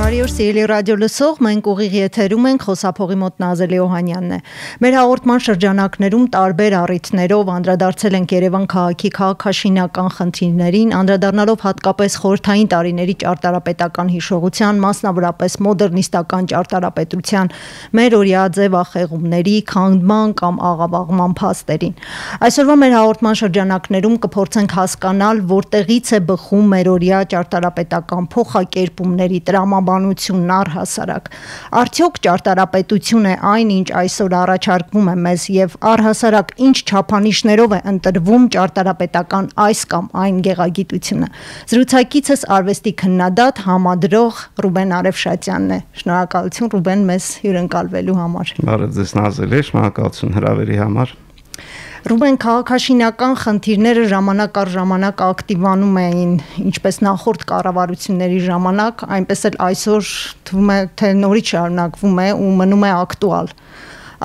Բարի օր, սիրելի ռադիո լսող, մենք ուղիղ եթերում ենք, խոսափողի մոտ Նազելի Օհանյանն է։ Մեր հաղորդման շրջանակներում տարբեր առիթներով անդրադարձել ենք Երևան քաղաքի քաղաքաշինական խնդիրներին, անդրադառնալով հատկապես խորհրդային տարիների ճարտարապետական հիշողության, մասնավորապես մոդեռնիստական ճարտարապետության մերօրյա ձևախեղումների, քանդման կամ աղավաղման փաստերին։ Այսօրվա մեր հաղորդման շրջանակներում կփորձենք հասկանալ, որտեղից է բխում մերօրյա ճարտարապետական փոխակերպումների տրամաբանությունն առհասարակ։ Արդյոք ճարտարապետություն է այն, ինչ այսօր առաջարկվում է մեզ եւ առհասարակ ինչ չափանիշներով է ընտրվում ճարտարապետական այս կամ այն գեղագիտությունը։ Զրուցակիցս արվեստի քննադատ, համադրող Ռուբեն Արևշատյանն է։ Շնորհակալություն Ռուբեն մեզ հյուրընկալվելու համար։ Բարև ձեզ Նազելի, շնորհակալություն հրավերի համար։ Ռուբեն, քաղաքաշինական խնդիրները ժամանակ առ ժամանակ ակտիվանում էին, ինչպես նախորդ կառավարությունների ժամանակ, այնպես էլ այսօր թվում է, թե նորից շարունակվում է ու մնում է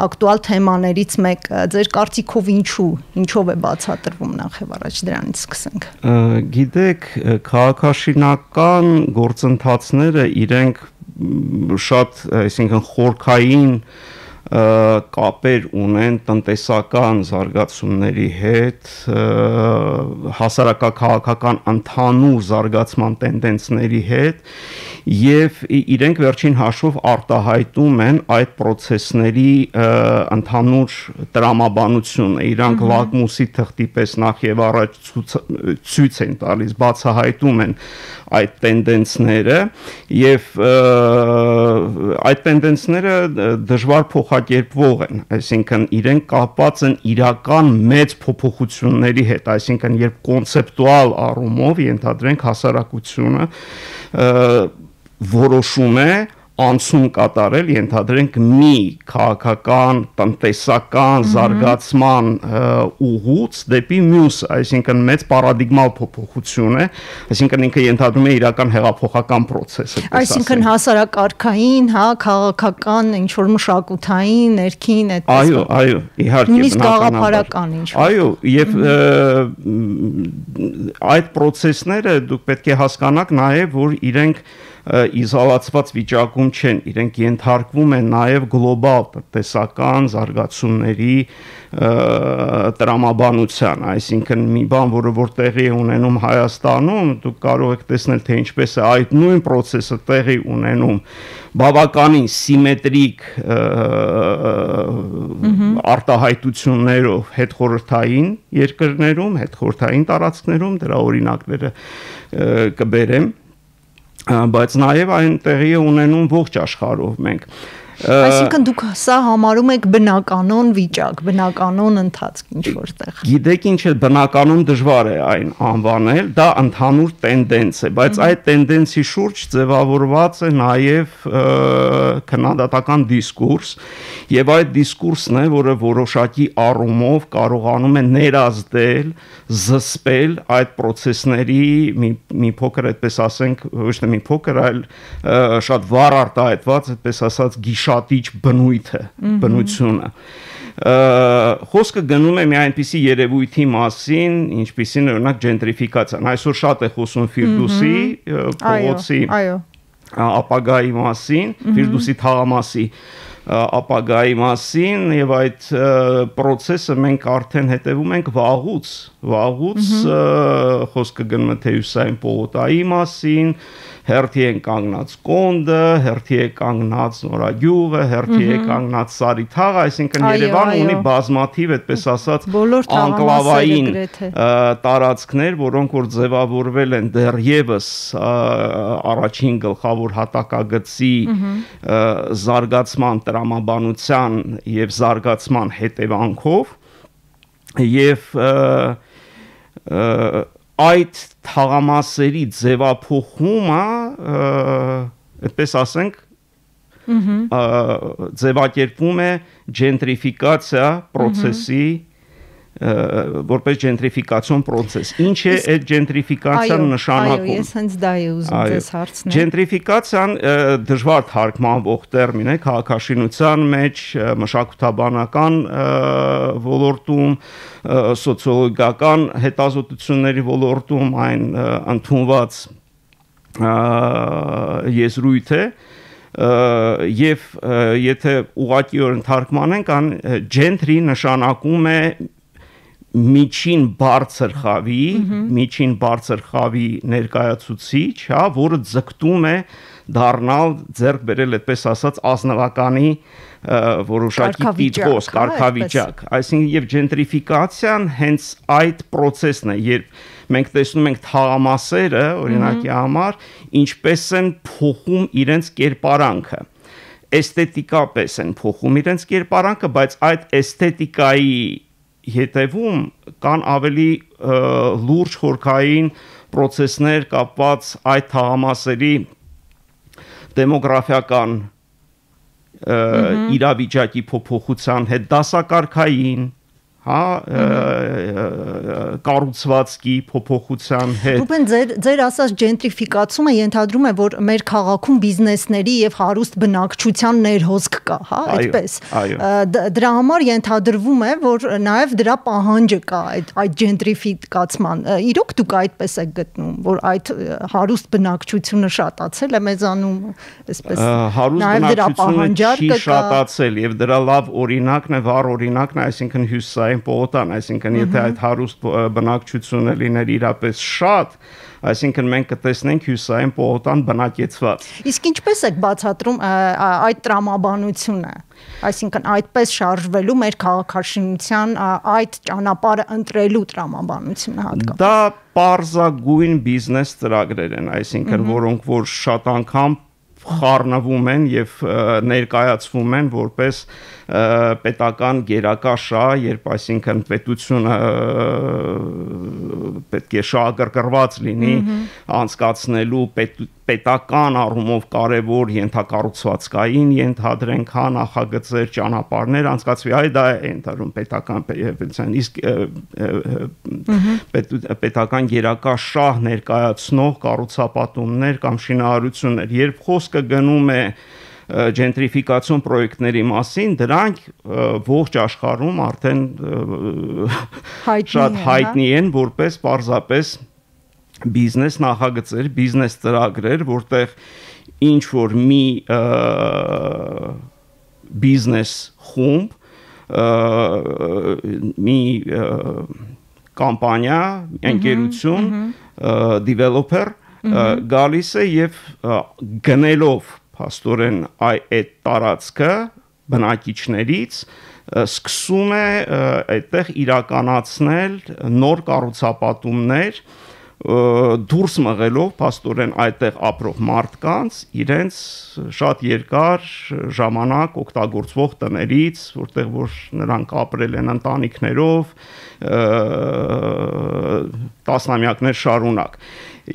ակտուալ թեմաներից մեկը։ Ձեր կարծիքով ինչով է բացատրվում, նախ եւ առաջ դրանից սկսենք։ Գիտեք, քաղաքաշինական գործընթացները իրենք շատ, այսինքն խորքային կապեր ունեն տնտեսական զարգացումների հետ, հասարակաքաղաքական ընդհանուր զարգացման տենդենսների հետ եւ իրենք վերջին հաշվով արտահայտում են այդ process-ների ընդհանուր տրամաբանությունը, իրանք լակմուսի թղթի պես նախ եւ առաջ ցույց են տալիս, բացահայտում են այդ տենդենսները եւ այդ տենդենսները դժվար փոխակերպվող են, այսինքն իրենք կապված են իրական մեծ փոփոխությունների հետ, այսինքն երբ կոնցեպտուալ առումով ենթադրենք հասարակությունը որոշում է անցում կատարել, ենթադրենք մի քաղաքական, տնտեսական զարգացման ուղուց դեպի մյուս, այսինքն մեծ պարադիգմալ փոփոխություն է, այսինքն ինքը ենթադրում է իրական հեղափոխական process, այսինքն հասարակարգային, քաղաքական, ինչ-որ մշակութային, ներքին, այդպես։ Այո, իհարկե, նույնիսկ գաղափարական ինչ-որ։ Այո, եւ այդ process-ները դուք պետք է հասկանաք նաեւ, որ իրենք իզոլացված վիճակում չեն, իրենք ենթարկվում են նաև գլոբալ տնտեսական զարգացումների տրամաբանության, այսինքն մի բան, որ տեղի է ունենում Հայաստանում, դուք կարող եք տեսնել, թե ինչպես է այդ նույն process-ը տեղի ունենում բավականին սիմետրիկ արտահայտություններով հետխորհրդային երկրներում, հետխորհրդային տարածքներում, դրա օրինակները կբերեմ, բայց նաև այն տեղի է ունենում ողջ աշխարհով մենք։ Այսինքն դուք սա համարում եք բնականոն վիճակ, բնականոն ընթացք ինչ-որտեղ։ Գիտեք ինչ է, բնականոն դժվար է այն անվանել, դա ընդհանուր տենդենս է, բայց այդ տենդենսի շուրջ ձևավորված է նաև քննադատական դիսկուրս, եւ այդ դիսկուրսն է, որը որոշակի առումով կարողանում է ներազդել, զսպել այդ process-ների մի փոքր, այդպես ասենք, ոչ թե մի փոքր, այլ շատ վառ արտահայտված, այդպես ասած գիշատիչ բնությունը։ Խոսքը գնում է մի այնպիսի երևույթի մասին, ինչպիսին օրինակ ջենտրիֆիկացիան։ Այսօր շատ է խոսում Ֆիրդուսի փողոցի ապագայի մասին, Ֆիրդուսի թաղամասի ապագայի մասին եւ այդ process-ը մենք արդեն հետևում ենք վաղուց խոսքը գնում է թե Հյուսային պողոտայի մասին, հերթի են կանգնած Կոնդը, հերթի է կանգնած Նորագյուղը, հերթի է կանգնած Սարիթաղը, այսինքն Երևանը ունի բազմաթիվ, այդպես ասած, անկլավային տարածքներ, որոնք որ ձևավորվել են դեռևս առաջին գլխավոր հատակագծի զարգացման տրամաբանության եւ զարգացման հետևանքով եւ այդ թաղամասերի ձևափոխումը, այդպես ասենք, ձևակերպվում է ջենտրիֆիկացիա process-ի որպես ջենտրիֆիկացիոն process։ Ինչ է այդ ջենտրիֆիկացիան նշանակում։ Այո, ես հենց դա եմ ուզում ձեզ հարցնել։ Ջենտրիֆիկացիան դժվար թարգմանվող տերմին է քաղաքաշինության մեջ, մշակութաբանական ոլորտում, սոցիոլոգիական հետազոտությունների ոլորտում այն ընդունված եզրույթ է եւ եթե ուղղակիորեն թարգմանենք ան gentry նշանակում է միջին բարձր խավի ներկայացուցիչ, հա, որը ձգտում է դառնալ ձեռք բերել այդպես ասած ազնվականի որոշակի տիտղոս, կարգավիճակ, այսինքն եւ gentrification հենց այդ process-ն է, երբ մենք տեսնում ենք թաղամասերը, օրինակի համար, ինչպես են փոխում իրենց կերպարանքը, էսթետիկապես են փոխում իրենց կերպարանքը, բայց այդ էսթետիկայի հետևում կան ավելի լուրջ խորքային process-ներ կապված այդ թաղամասերի դեմոգրաֆիական իրավիճակի փոփոխության հետ, դասակարգային, հա, կառուցվածքի փոփոխության հետ։ Ռուբեն, ձեր ասած gentrification-ը ենթադրում է, որ մեր քաղաքում բիզնեսների եւ հարուստ բնակչության ներհոսք կա, հա, այդպես։ Դրա համար ենթադրվում է, որ նաեւ դրա պահանջը կա այդ gentrification-ման։ Իրոք դուք այդպես եք գտնում, որ այդ հարուստ բնակչությունը շատացել է մեզանում, այսպես։ Հարուստ բնակչությունը չի շատացել եւ դրա լավ օրինակն է, վառ օրինակն է, այսինքն հյուսային պողոտան, այսինքն եթե այդ հարուստ բնակչությունը լիներ իրապես շատ, այսինքն մենք կտեսնենք հյուսային պողոտան բնակեցված։ Իսկ ինչպես եք բացատրում այդ տրամաբանությունը, այսինքն այդպես շարժվելու մեր քաղաքաշինության այդ ճանապարհը ընտրելու տրամաբանությունը հատկապես։ Դա պարզագույն բիզնես ծրագրեր են, այսինքն որոնք որ շատ անգամ խառնվում են եւ ներկայացվում են որպես պետական գերակա շահ, երբ այսինքն պետությունը պետք է շահագրգռված լինի անցկացնելու պետական առումով կարևոր ենթակառուցվածքային ենթադրենք հա նախագծեր, ճանապարհներ անցկացվի, այ դա է ընդհանրում պետական պետության, իսկ պետական գերակա շահ ներկայացնող կառուցապատումներ կամ շինարարություններ, երբ խոսքը գնում է gentrification պրոյեկտների մասին, դրանք ողջ աշխարհում արդեն շատ հայտնի են որպես պարզապես բիզնես նախագծեր, բիզնես ծրագրեր, որտեղ ինչ որ մի բիզնես խումբ, մի կամպանիա, ընկերություն, developer գալիս է եւ գնելով փաստորեն այդ տարածքը բնակիչներից սկսում է այդտեղ իրականացնել նոր կառուցապատումներ դուրս մղելով փաստորեն այդտեղ ապրող մարդկանց իրենց շատ երկար ժամանակ օգտագործվող տներից, որտեղ որ նրանք ապրել են ընտանիքներով տասնամյակներ շարունակ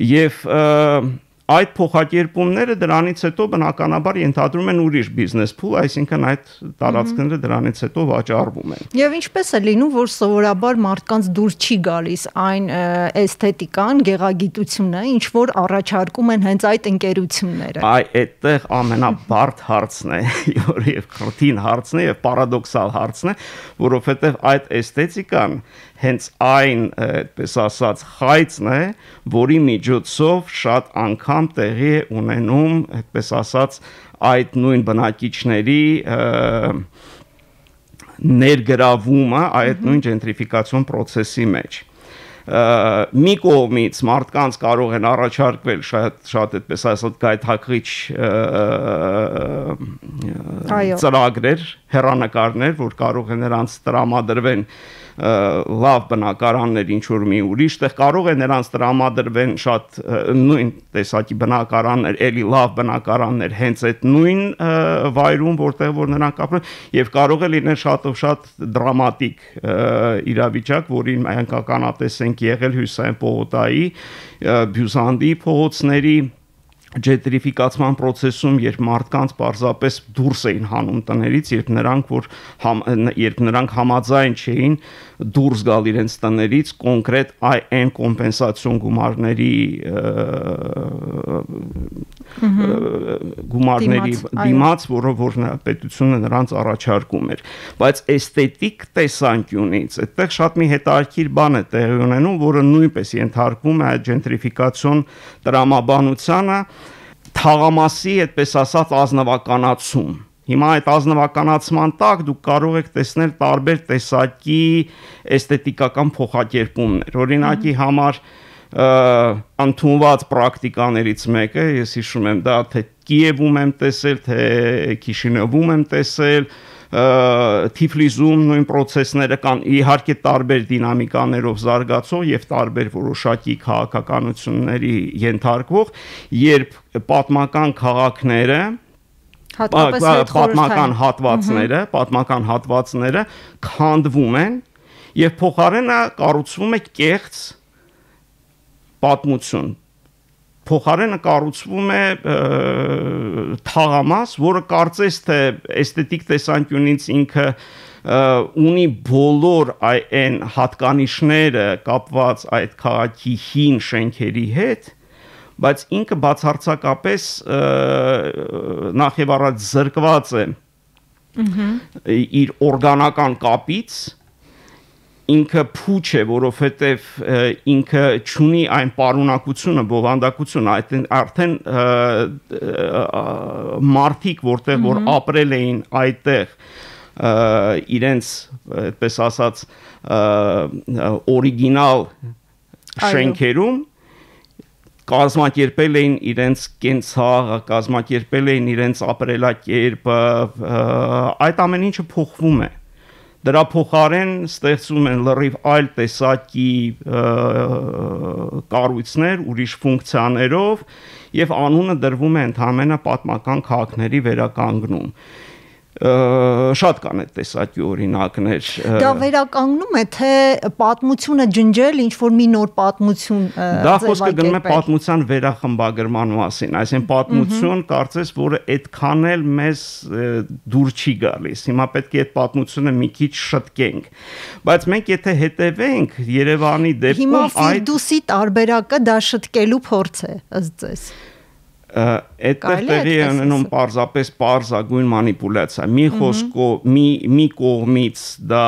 եւ այդ փոխակերպումները դրանից հետո բնականաբար ենթադրում են ուրիշ բիզնես փուլ, այսինքն այդ տարածքները դրանից հետո վաճառվում են։ Եվ ինչպես է լինում, որ սովորաբար մարդկանց դուր չի գալիս այն էսթետիկան, գեղագիտությունը, ինչ որ առաջարկում են հենց այդ ընկերությունները։ Այդտեղ ամենաբարդ հարցն է, եւ քրտին հարցն է եւ պարադոքսալ հարցն է, որովհետեւ այդ էսթետիկան հենց այն, այդպես ասած, խայծն է, որի միջոցով շատ անգամ տեղի է ունենում, այդպես ասած, այդ նույն բնակիչների ներգրավումը այդ նույն gentrification process-ի մեջ։ Մի կողմից մարդկանց կարող են առաջարկվել շատ այդպես ասած գայթակղիչ ծրագրեր, հեռանկարներ, որ կարող են նրանց տրամադրվեն լավ բնակարաններ ինչ որ մի ուրիշ տեղ կարող է նրանց տրամադրվեն շատ նույն տեսակի բնակարաններ, էլի լավ բնակարաններ հենց այդ նույն վայրում, որտեղ որ նրանք ապրեն եւ կարող է լինել շատ դրամատիկ իրավիճակ, որին մենք ականատես ենք եղել Հյուսային պողոտայի, Բյուզանդի փողոցների ջենտրիֆիկացման process-ում, երբ մարդկանց պարզապես դուրս էին հանում տներից, երբ նրանք համաձայն չէին դուրս գալ իրենց տներից կոնկրետ այն կոմպենսացիոն գումարների դիմաց, որ պետությունը նրանց առաջարկում էր, բայց էսթետիկ տեսանկյունից այդտեղ շատ մի հետաքրքիր բան է տեղի ունենում, որը նույնպես ենթարկվում է ջենտրիֆիկացիոն տրամաբանությանը, թաղամասի, այդպես ասած, ազնվականացում։ Հիմա այդ ազնվականացման տակ դուք կարող եք տեսնել տարբեր տեսակի էսթետիկական փոխակերպումներ։ Օրինակի համար ընդունված պրակտիկաներից մեկը, ես հիշում եմ դա, թե Կիևում եմ տեսել, թե Քիշինևում եմ տեսել, Թիֆլիսում նույն process-ները կան, իհարկե տարբեր դինամիկաներով զարգացող եւ տարբեր որոշակի քաղաքականությունների ենթարկվող, երբ պատմական քաղաքները, պատմական հատվածները քանդվում են եւ փոխարենը կառուցվում է կեղծ պատմություն։ Փոխարենը կառուցվում է թաղամաս, որը կարծես թե էսթետիկ տեսանկյունից ինքը ունի բոլոր այն հատկանիշները կապված այդ քաղաքի հին շենքերի հետ, բայց ինքը բացարձակապես նախ եւ առաջ զրկված է իր օրգանական կապից, ինքը փուչ է, որովհետև ինքը չունի այն պարունակությունը, բովանդակությունը, արդեն մարդիկ, որտեղ որ ապրել էին այդտեղ իրենց, այդպես ասած, օրիգինալ շենքերում, կազմակերպել էին իրենց կենցաղը, կազմակերպել էին իրենց ապրելակերպը, այդ ամեն ինչը փոխվում է։ Դրա փոխարեն ստեղծում են լրիվ այլ տեսակի կառույցներ, ուրիշ ֆունկցիաներով եւ անունը դրվում է ընդհանրապես պատմական քաղաքների վերականգնում։ Շատ կան այդ տեսակի օրինակներ։ Դա վերականգնում է, թե պատմությունը ջնջել, ինչ որ մի նոր պատմություն դա խոսքը գնում է պատմության վերախմբագրման մասին, այսինքն պատմություն կարծես, որը այդքան էլ մեզ դուր չի գալիս։ Հիմա պետք է այդ պատմությունը մի քիչ շտկենք։ Բայց մենք եթե հետևենք Երևանի դեպքում, հիմա Ֆիրդուսի տարբերակը դա շտկելու փորձ է, ըստ ձեզ։ Այդտեղ տեղի է ունենում պարզապես պարզագույն մանիպուլյացիա։ Մի խոսքով, մի կողմից դա,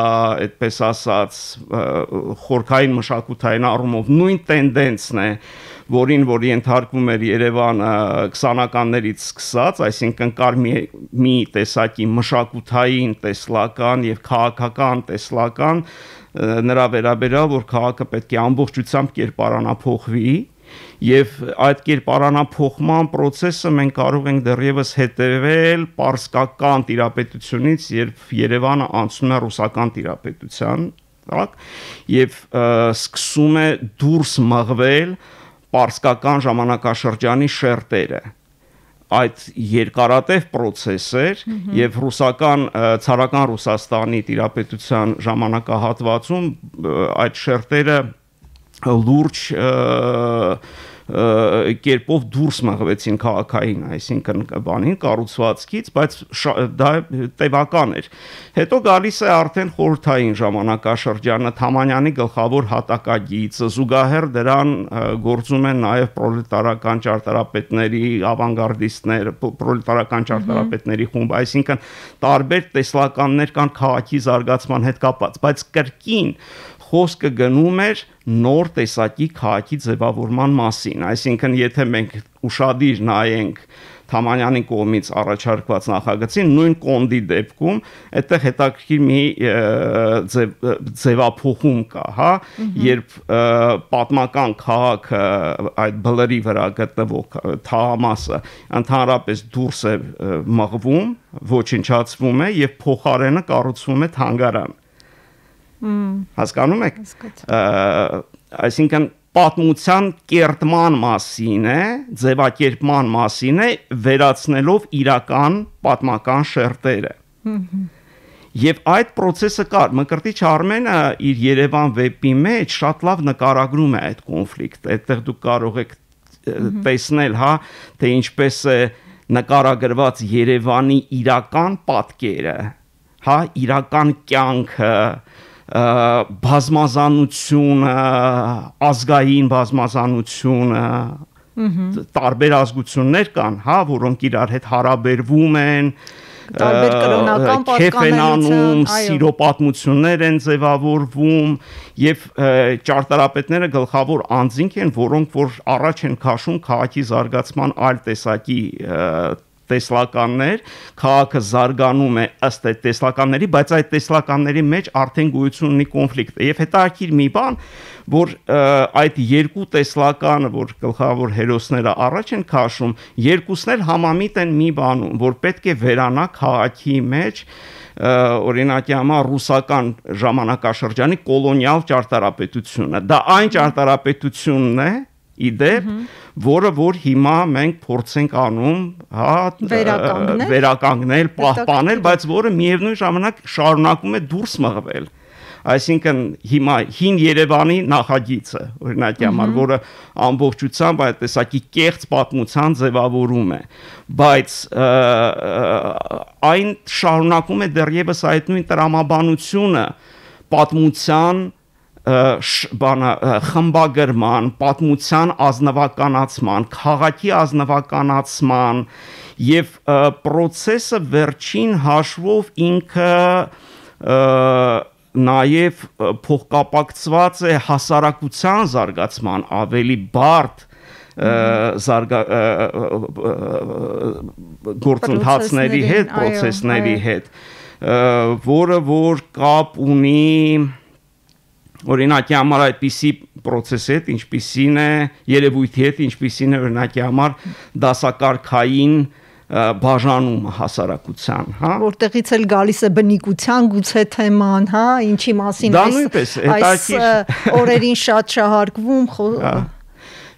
այդպես ասած, խորքային մշակութային առումով նույն տենդենսն է, որին որ ենթարկվում էր Երևանը 20-ականներից սկսած, այսինքն կար մի տեսակի մշակութային տեսլական եւ քաղաքական տեսլական նրա վերաբերյալ, որ քաղաքը պետք է ամբողջությամբ կերպարանափոխվի եւ այդ կերպարանափոխման process-ը մենք կարող ենք դեռևս հետևել պարսկական տիրապետությունից, երբ Երևանը անցնում է ռուսական տիրապետության, так, եւ սկսում է դուրս մղվել պարսկական ժամանակաշրջանի շերտերը։ Այդ երկարատև process էր եւ ռուսական ցարական Ռուսաստանի տիրապետության ժամանակահատվածում այդ շերտերը լուրջ կերպով դուրս մղվեցին քաղաքային, այսինքն բանին կառուցվածքից, բայց դա տևական էր։ Հետո գալիս է արդեն խորհրդային ժամանակաշրջանը, Թամանյանի գլխավոր հատակագիծը, զուգահեռ դրան գործում են նաև պրոլետարական ճարտարապետների, ավանգարդիստներ, պրոլետարական ճարտարապետների խումբ, այսինքն տարբեր տեսլականներ կան քաղաքի զարգացման հետ կապված, բայց կրկին խոսքը գնում էր նոր տեսակի քաղաքի ձևավորման մասին, այսինքն եթե մենք ուշադիր նայենք Թամանյանի կողմից առաջարկված նախագծին, նույն կոնդի դեպքում այդտեղ հետաքրքիր մի ձևափոխում կա, հա, երբ պատմական քաղաքը այդ բլրի վրա գտնվող թաղամասը ընդհանրապես դուրս է մղվում, ոչնչացվում է եւ փոխարենը կառուցվում է թանգարան։ Հասկանում եք։ Այսինքն պատմության կերտման մասին է, ձևակերպման մասին է, վերացնելով իրական պատմական շերտերը։ Եվ այդ process-ը կար, Մկրտիչ Արմենը իր Երևան վեպի մեջ շատ լավ նկարագրում է այդ կոնֆլիկտը, այդտեղ դուք կարող եք տեսնել, հա, թե ինչպես է նկարագրված Երևանի իրական պատկերը, հա, իրական կյանքը, բազմազանությունը, ազգային բազմազանությունը, տարբեր ազգություններ կան, հա, որոնք իրար հետ հարաբերվում են, տարբեր կրոնական պատկանելություն, սիրո պատմություններ են ձևավորվում եւ ճարտարապետները գլխավոր անձինք են, որոնք որ առաջ են քաշում քաղաքի զարգացման այլ տեսակի տեսլականներ, քաղաքը զարգանում է ըստ այդ տեսլականների, բայց այդ տեսլականների մեջ արդեն գոյություն ունի կոնֆլիկտ։ Եվ հետաքրքիր մի բան, որ այդ երկու տեսլականը, որ գլխավոր հերոսները առաջ են քաշում, երկուսն էլ համամիտ են մի բանում, որ պետք է վերանա քաղաքի մեջ օրինակի համար ռուսական ժամանակաշրջանի կոլոնիալ ճարտարապետությունը։ Դա այն ճարտարապետությունն է, իդեպ, որը որ հիմա մենք փորձենք անում, հա, վերականգնել, պահպանել, բայց որը միևնույն ժամանակ շարունակում է դուրս մղվել։ Այսինքն հիմա հին Երևանի նախագիծը, օրինակի համար, որը ամբողջությամբ այդ տեսակի կեղծ պատմության ձևավորում է, բայց այն շարունակում է դեռևս այդ նույն տրամաբանությունը պատմության խմբագրման, պատմության ազնվականացման, քաղաքի ազնվականացման եւ process-ը վերջին հաշվով ինքը նաեւ փոխկապակցված է հասարակության զարգացման ավելի բարդ գործընթացների հետ, process-ների հետ, որը որ կապ ունի օրինակի համար այդպիսի process-ի հետ, ինչպիսին է երևույթի հետ, ինչպիսին է օրինակի համար դասակարգային բաժանումը հասարակության, հա, որտեղից էլ գալիս է բնիկության գուցե թեման, հա, ինչի մասին այս օրերին շատ շահարկվում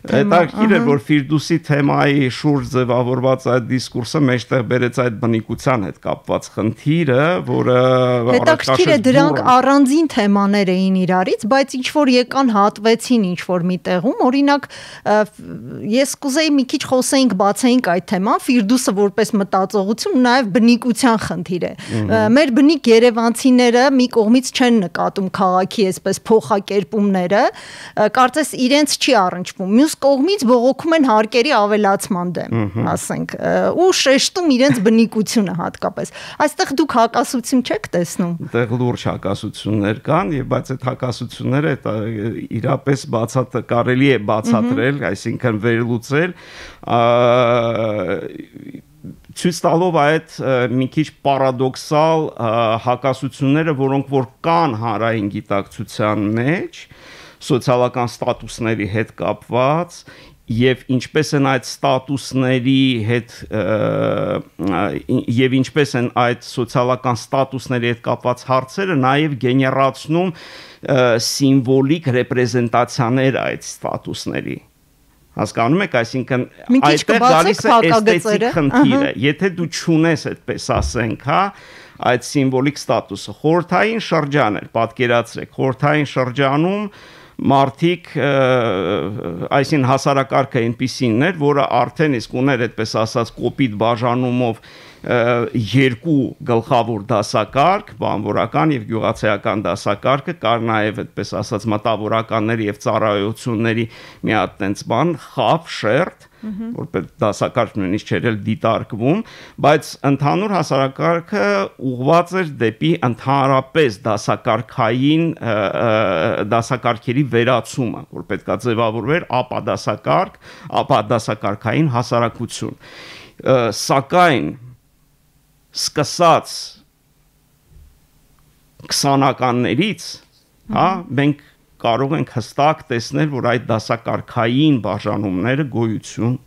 Հետաքրքիր է, որ Ֆիրդուսի թեմայի շուրջ ձևավորված այդ դիսկուրսը մեջտեղ բերեց այդ բնիկության հետ կապված խնդիրը, որը հետաքրքիր է, դրանք առանձին թեմաներ էին իրարից, բայց ինչ որ եկան հատվեցին ինչ որ մի տեղում, օրինակ ես կուզեի մի քիչ խոսեինք, բացեինք այդ թեման, Ֆիրդուսը որպես մտածողություն, նաև բնիկության խնդիր է։ Մեր բնիկ երևանցիները մի կողմից չեն նկատում քաղաքի այսպես փոխակերպումները, կարծես իրենց չի առնչվում, մյուս կողմից բողոքում են հարկերի ավելացման դեմ, ասենք, ու շեշտում իրենց բնիկությունը հատկապես։ Այստեղ դուք հակասություն չեք տեսնում։ Այդտեղ լուրջ հակասություններ կան, եւ բայց այդ հակասությունները իրապես կարելի է բացատրել, այսինքն վերլուծել, ցույց տալով այդ մի քիչ պարադոքսալ հակասությունները, որոնք որ կան հանրային գիտակցության մեջ, սոցիալական ստատուսների հետ կապված եւ ինչպես են այդ ստատուսների հետ եւ ինչպես են այդ սոցիալական ստատուսների հետ կապված հարցերը նաեւ գեներացնում սիմվոլիկ ռեպրեզենտացիաներ այդ ստատուսների։ Հասկանում եք, այսինքն այդտեղ գալիս է էսթետիկ խնդիրը։ Եթե դու չունես այդպես ասենք, հա, այդ սիմվոլիկ ստատուսը, խորհրդային շրջան է, պատկերացրեք, խորհրդային շրջանում մարդիկ այսին հասարակարգը այնպիսին էր, որը արդեն իսկ ուներ այդպես ասած կոպիտ բաժանումով երկու գլխավոր դասակարգ, բանվորական եւ գյուղացիական դասակարգը, կար նաեւ այդպես ասած մտավորականների եւ ծառայությունների մի հատ տենց բան, խավ, շերտ, որպես դասակարգ նույնիսկ չէր էլ դիտարկվում, բայց ընդհանուր հասարակարգը ուղղված էր դեպի ընդհանրապես դասակարգային դասակարգերի վերացումը, որ պետքա ձևավորվեր ապա դասակարգային հասարակություն։ Սակայն սկսած 20-ականներից, հա, մենք կարող ենք հստակ տեսնել, որ այդ դասակարգային բաժանումները գոյություն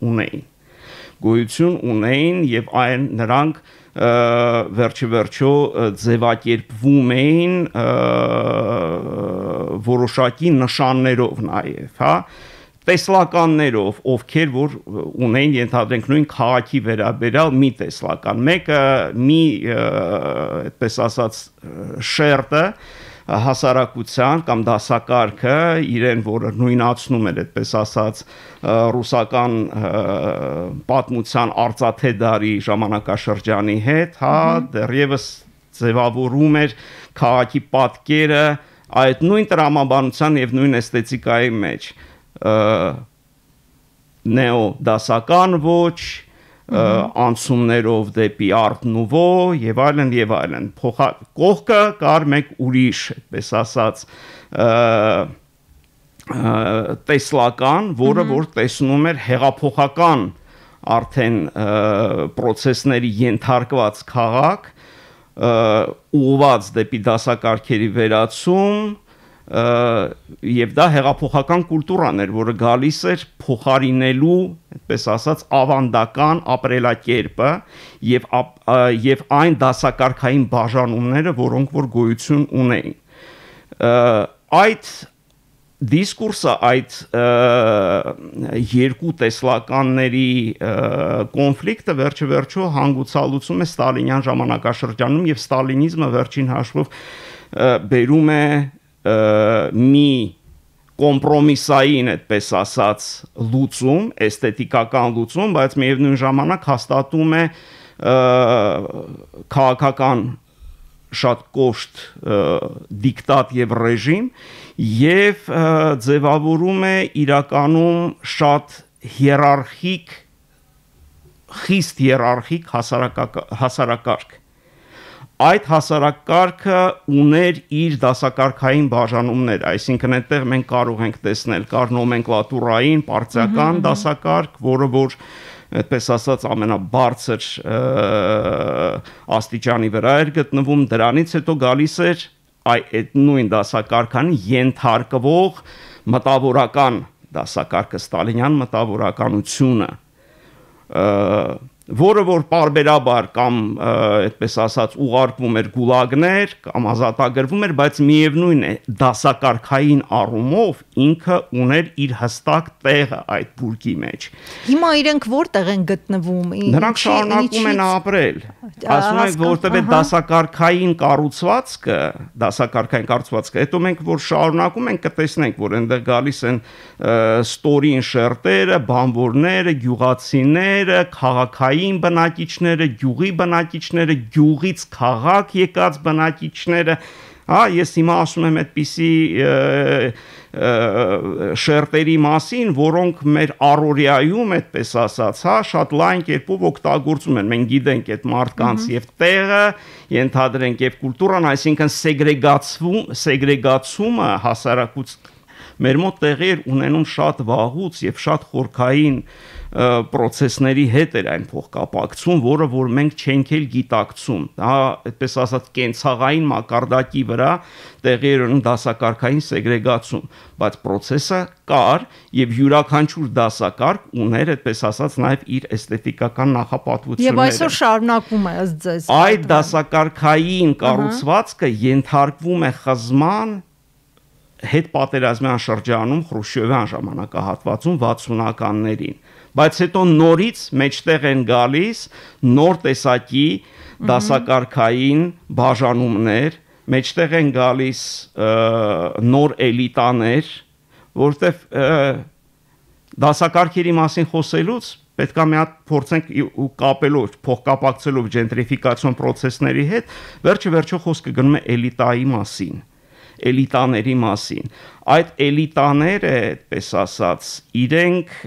ունեին եւ այն նրանք վերջիվերջո ձևակերպվում էին որոշակի նշաններով նաեւ, հա, տեսլականներով, ովքեր որ ունեին ենթադրենք նույն քաղաքի վերաբերյալ մի տեսլական, մեկը մի այդպես ասած շերտը հասարակության կամ դասակարգը իրեն, որը նույնացնում էր, այդպես ասած, ռուսական պատմության արծաթե դարի ժամանակաշրջանի հետ, հա, դեռևս ձևավորում էր քաղաքի պատկերը այդ նույն տրամաբանության եւ նույն էսթետիկայի մեջ, նեո դասական ոչ, անցումներով դեպի Art Nouveau եւ այլն եւ այլն։ Կողքը կար մեկ ուրիշ, այդպես ասած, տեսլական, որը որ տեսնում էր հեղափոխական արդեն process-ների ենթարկված քաղաք, ուղղված դեպի դասակարգերի վերացում, եւ դա հեղափոխական կուլտուրան էր, որը գալիս էր փոխարինելու, այդպես ասած, ավանդական ապրելակերպը եւ այն դասակարգային բաժանումները, որոնք որ գոյություն ունեին։ Այդ դիսկուրսը, այդ երկու տեսլականների կոնֆլիկտը վերջը հանգուցալուծում է ստալինյան ժամանակաշրջանում եւ ստալինիզմը վերջին հաշվով բերում է մի կոմպրոմիսային, այդպես ասած, լուծում, էսթետիկական լուծում, բայց միևնույն ժամանակ հաստատում է քաղաքական շատ կոշտ դիկտատ եւ ռեժիմ եւ ձևավորում է իրականում շատ հիերարխիկ, խիստ հիերարխիկ հասարակարգ։ Այդ հասարակարգը ուներ իր դասակարգային բաժանումներ, այսինքն այդտեղ մենք կարող ենք տեսնել կար նոմենկլատուրային, պարտիական դասակարգ, որը որ այդպես ասած ամենաբարձր աստիճանի վրա էր գտնվում, դրանից հետո գալիս էր այդ նույն դասակարգան ենթարկվող մտավորական դասակարգը, ստալինյան մտավորականությունը, որը որ պարբերաբար կամ այդպես ասած ուղարկվում էր գուլագներ կամ ազատագրվում էր, բայց միևնույն է դասակարգային առումով ինքը ուներ իր հստակ տեղը այդ բուրգի մեջ։ Հիմա իրենք որտեղ են գտնվում։ Նրանք շարունակում են ապրել։ Ասում են, որտեղ է դասակարգային կառուցվածքը, հետո մենք որ շարունակում ենք կտեսնենք, որ այնտեղ գալիս են ստորին շերտերը, բանվորները, գյուղացիները, քաղաքային բնակիչները, գյուղի բնակիչները, գյուղից քաղաք եկած բնակիչները, հա, ես հիմա ասում եմ այդպիսի շերտերի մասին, որոնք մեր առօրյայում, այդպես ասած, հա, շատ լայն կերպով օգտագործում են։ Մենք գիտենք այդ մարդկանց եւ տեղը, ենթադրենք եւ կուլտուրան, այսինքն սեգրեգացումը հասարակության մեր մոտ տեղի էր ունենում շատ վաղուց եւ շատ խորքային process-ների հետ էր այն փոխկապակցում, որը որ մենք չենք էլ գիտակցում։ Դա այդպես ասած կենցաղային մակարդակի վրա տեղի էր ունենում դասակարգային սեգրեգացում, բայց process-ը կար եւ յուրաքանչյուր դասակարգ ուներ այդպես ասած նաեւ իր էսթետիկական նախապատվությունները։ Եվ այսօր շարունակում է ըստ ձեզ։ Այդ դասակարգային կառուցվածքը ենթարկվում է խզման հետ պատերազմյան շրջանում Խրուշչովյան ժամանակահատվածում 60-ականներին, բայց հետո նորից մեջտեղ են գալիս նոր տեսակի դասակարգային բաժանումներ, մեջտեղ են գալիս նոր էլիտաներ, որտեղ դասակարգերի մասին խոսելուց պետք է մի հատ փորձենք ու կապելով, փոխկապակցելով ջենտրիֆիկացիոն process-ների հետ, վերջը խոսքը գնում է էլիտայի մասին, էլիտաների մասին։ Այդ էլիտաները, այդպես ասած, իրենք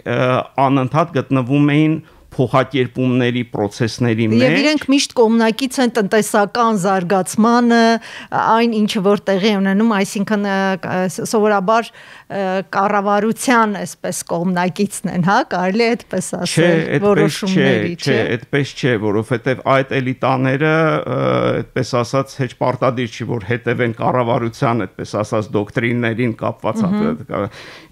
անընդհատ գտնվում էին փոխակերպումների process-ների մեջ։ Եվ իրենք միշտ կողմնակից են տնտեսական զարգացմանը, այն ինչը որ տեղի ունենում, այսինքն սովորաբար կառավարության այսպես կողմնակիցն են, հա, կարելի է այդպես ասել որոշումների, չէ, այդպես չէ, որովհետև այդ էլիտաները, այդպես ասած, հեչ պարտադիր չի, որ հետևեն կառավարության, այդպես ասած, դոկտրիններին կապված,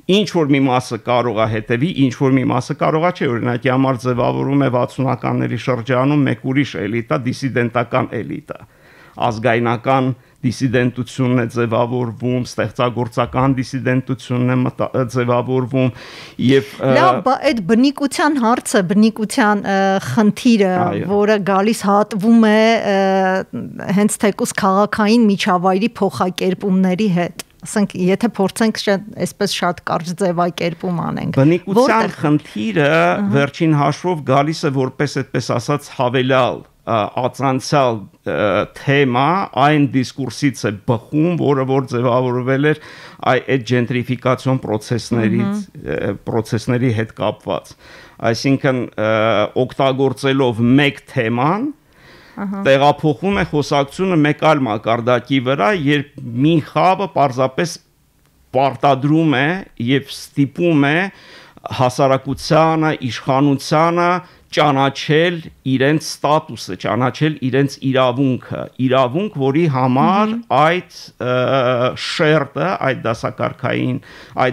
ինչ որ մի մասը կարող է հետևի, ինչ որ մի մասը կարող է չէ, օրինակի համար ձևավորում է 60-ականների շրջանում մեկ ուրիշ էլիտա, դիսիդենտական էլիտա, ազգայնական դիսիդենտությունն է ձևավորվում, ստեղծագործական դիսիդենտությունն է ձևավորվում եւ լավ, այդ բնիկության հարցը, բնիկության խնդիրը, որը գալիս հատվում է հենց թեկուզ քաղաքային միջավայրի փոխակերպումների հետ, ասենք, եթե փորձենք այսպես շատ կարճ ձևակերպում անենք։ Բնիկության խնդիրը վերջին հաշվով գալիս է որպես այդպես ասած հավելյալ ածանցյալ թեմա այն դիսկուրսից է բխում, որը որ ձևավորվել էր այդ ջենտրիֆիկացիոն process-ների հետ կապված։ Այսինքն օգտագործելով մեկ թեման տեղափոխում է խոսակցությունը մեկ այլ մակարդակի վրա, երբ մի խավը պարզապես պարտադրում է եւ ստիպում է հասարակությանը, իշխանությանը ճանաչել իրենց ստատուսը, ճանաչել իրենց իրավունք, որի համար այդ շերտը, այդ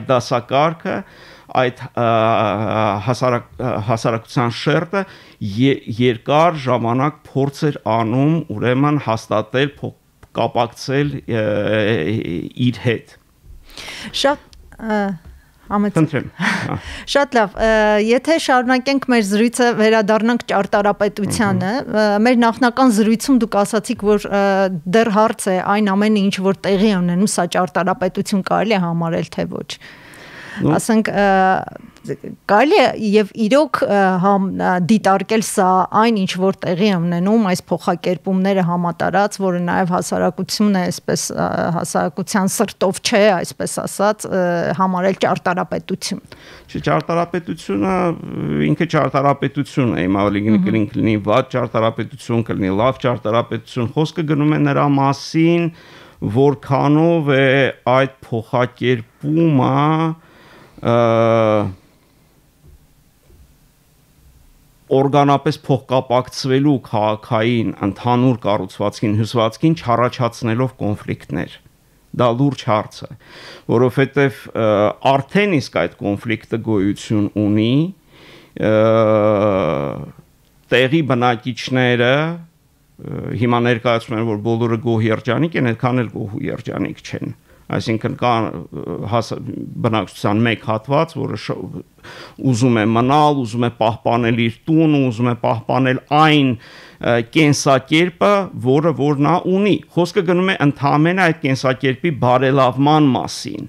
դասակարգը, այդ հասարակության շերտը երկար ժամանակ փորձ էր անում, ուրեմն հաստատել, կապակցել իր հետ։ Շատ լավ, եթե շարունակենք մեր զրույցը, վերադառնանք ճարտարապետությանը, մեր նախնական զրույցում դուք ասացիք, որ դեռ հարց է այն ամենը, ինչ որ տեղի է ունենում, սա ճարտարապետություն կարելի է համարել, թե ոչ։ Ասենք, կարելի է եւ իրոք դիտարկել սա այն, ինչ որ տեղի է ունենում, այս փոխակերպումները համատարած, որը նաեւ հասարակությունը, այսպես հասարակության սրտով չէ, այսպես ասած, համարել ճարտարապետություն։ Ճարտարապետությունը ինքը ճարտարապետություն է, հիմա լինի վատ ճարտարապետություն, կլինի լավ ճարտարապետություն, խոսքը գնում է նրա մասին, որքանով է այդ փոխակերպումը օրգանապես փոխկապակցվելու քաղաքային ընդհանուր կառուցվածքին, հյուսվածքին չառաջացնելով կոնֆլիկտներ։ Դա լուրջ հարց է, որովհետև արդեն իսկ այդ կոնֆլիկտը գոյություն ունի, տեղի բնակիչները հիմա ներկայացնում են, որ բոլորը գոհ երջանիկ են, այդքան էլ գոհ ու երջանիկ չեն։ Այսինքն կա բնակչության մեկ հատված, որը ուզում է մնալ, ուզում է պահպանել իր տունը, ուզում է պահպանել այն կենսակերպը, որը որ նա ունի։ Խոսքը գնում է ընդհանրապես այդ կենսակերպի բարելավման մասին։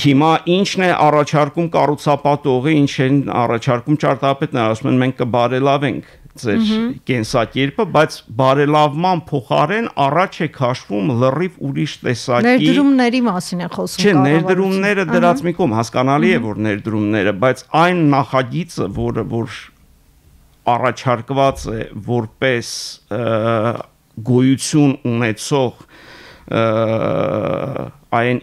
Հիմա ինչն է առաջարկում կառուցապատողը, ինչ են առաջարկում ճարտարապետները, ասում են մենք կբարելավենք ձեր կենսակերպը, բայց բարելավման փոխարեն առաջ է քաշվում լրիվ ուրիշ տեսակի ներդրումների մասին է խոսում։ Չէ, ներդրումները դրած մի կողմ, հասկանալի է, որ ներդրումները, բայց այն նախագիծը, որ առաջարկված է որպես գոյություն ունեցող այն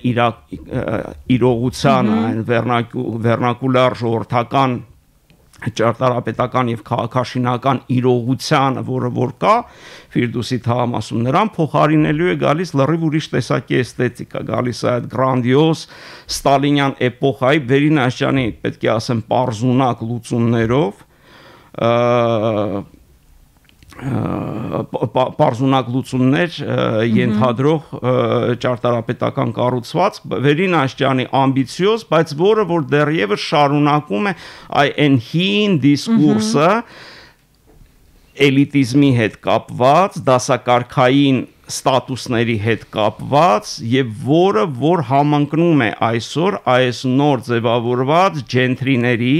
իրողության, այն վերնակուլար ժողովրդական ճարտարապետական եւ քաղաքաշինական իրողությանը, որը որ կա Ֆիրդուսի թաղամասում, նրան փոխարինելու է գալիս լրիվ ուրիշ տեսակի էսթետիկա, գալիս է այդ գրանդիոզ ստալինյան էպոխայի վերինաշճանի, պետք է ասեմ, պարզունակ լուծումներով, պարզունակ լուծումներ ենթադրող ճարտարապետական կառուցված, վերինաշճանի ամբիցիոզ, բայց որը որ դեռևս շարունակում է այն հին դիսկուրսը էլիտիզմի հետ կապված, դասակարգային ստատուսների հետ կապված եւ որը որ համընկնում է այսօր այս նոր ձևավորված ջենտրիների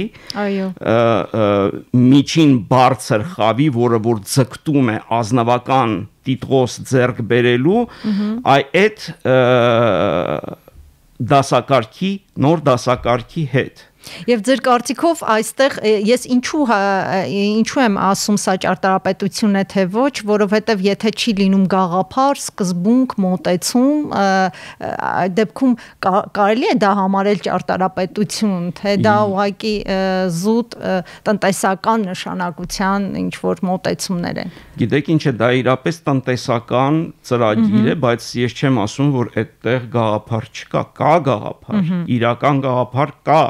միջին բարձր խավի, որը որ ձգտում է ազնվական տիտղոս ձեռք բերելու այդ դասակարգի նոր դասակարգի հետ։ Եվ ձեր կարծիքով այստեղ ես ինչու եմ ասում սա ճարտարապետություն է թե ոչ, որովհետև եթե չի լինում գաղափար, սկզբունք, մոտեցում, այդ դեպքում կարելի է դա համարել ճարտարապետություն, թե դա ուղղակի զուտ տնտեսական նշանակության ինչ որ մոտեցումներ են։ Գիտեք ինչ է, դա իրապես տնտեսական ծրագիր է, բայց ես չեմ ասում, որ այդտեղ գաղափար չկա, կա գաղափար, իրական գաղափար կա։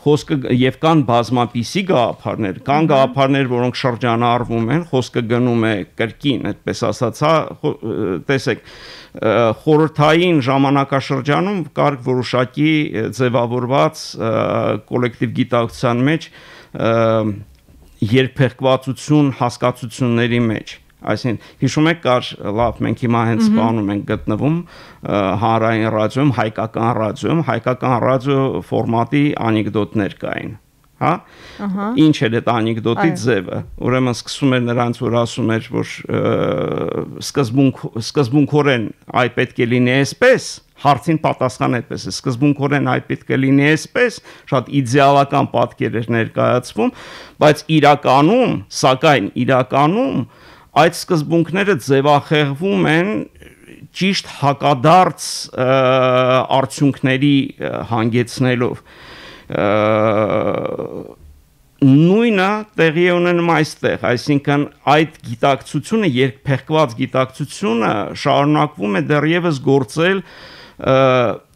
խոսքը եւ կան բազմապիսի գաղափարներ, կան գաղափարներ, որոնք շրջանառվում են, խոսքը գնում է կրկին, այդպես ասած, տեսեք, խորհրդային ժամանակաշրջանում կար որոշակի ձևավորված կոլեկտիվ գիտակցության մեջ երկփեղկվածություն հասկացությունների մեջ, այսինքն հիշում եք կար լավ մենք հիմա հենց բանում ենք գտնվում հանրային ռադիոյում, հայկական ռադիո ֆորմատի անեկդոտներ կային, հա? Ինչ էր այդ անեկդոտի ձևը, ուրեմն սկսում էր նրանց որ ասում էր որ սկզբունքորեն այ պետք է լինի այսպես, հարցին պատասխան այդպես է, սկզբունքորեն այ պետք է լինի այսպես, շատ իդեալական պատկեր էր ներկայացվում, բայց իրականում այդ սկզբունքները ձևախեղվում են ճիշտ հակադարձ արդյունքների հանգեցնելով նույնը տեղի է ունենում այստեղ, այսինքն այդ գիտակցությունը, երկփեղկված գիտակցությունը շարունակվում է դեռևս գործել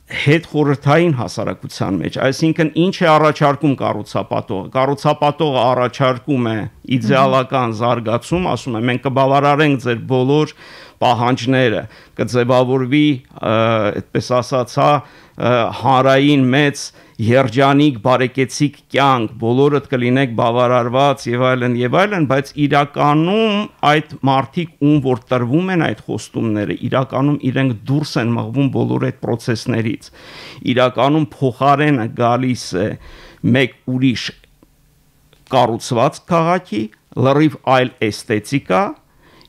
հետ խորհրդային հասարակության մեջ, այսինքն ինչ է առաջարկում կառուցապատողը առաջարկում է իդեալական զարգացում, ասում է մենք կբավարարենք ձեր բոլոր պահանջները, կձևավորվի, այդպես ասած, հանրային մեծ երջանիկ բարեկեցիկ կյանք, բոլորդ կլինեք բավարարված եւ այլն, բայց իրականում այդ մարդիկ ում որ տրվում են այդ խոստումները, իրականում իրենք դուրս են մղվում բոլոր այդ process-ներից։ Իրականում փոխարենը գալիս է մեկ ուրիշ կառուցված քաղաքի, լրիվ այլ էսթետիկա,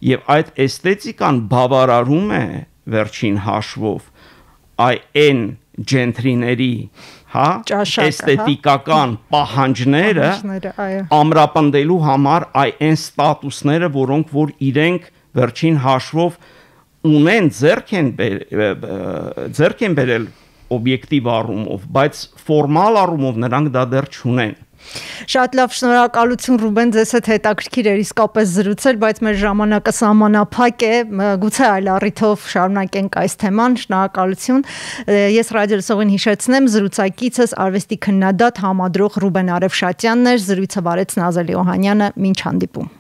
եւ այդ էսթետիկան բավարարում է վերջին հաշվով այն ջենտրիների էսթետիկական պահանջները ամրապնդելու համար այն ստատուսները, որոնք որ իրենք վերջին հաշվով ունեն ձեռք են բերել օբյեկտիվ առումով, բայց ֆորմալ առումով նրանք դա դեռ չունեն։ Շատ լավ, շնորհակալություն Ռուբեն, ձեզ հետ հետաքրքիր էր իսկապես զրուցել, բայց մեր ժամանակը սահմանափակ է, գուցե այլ առիթով շարունակենք այս թեման, շնորհակալություն։ Ես ռադիոլսողին հիշեցնեմ, զրուցակիցս արվեստի քննադատ համադրող Ռուբեն Արևշատյանն էր, զրույցը վարեց Նազելի Օհանյանը, մինչ հանդիպում։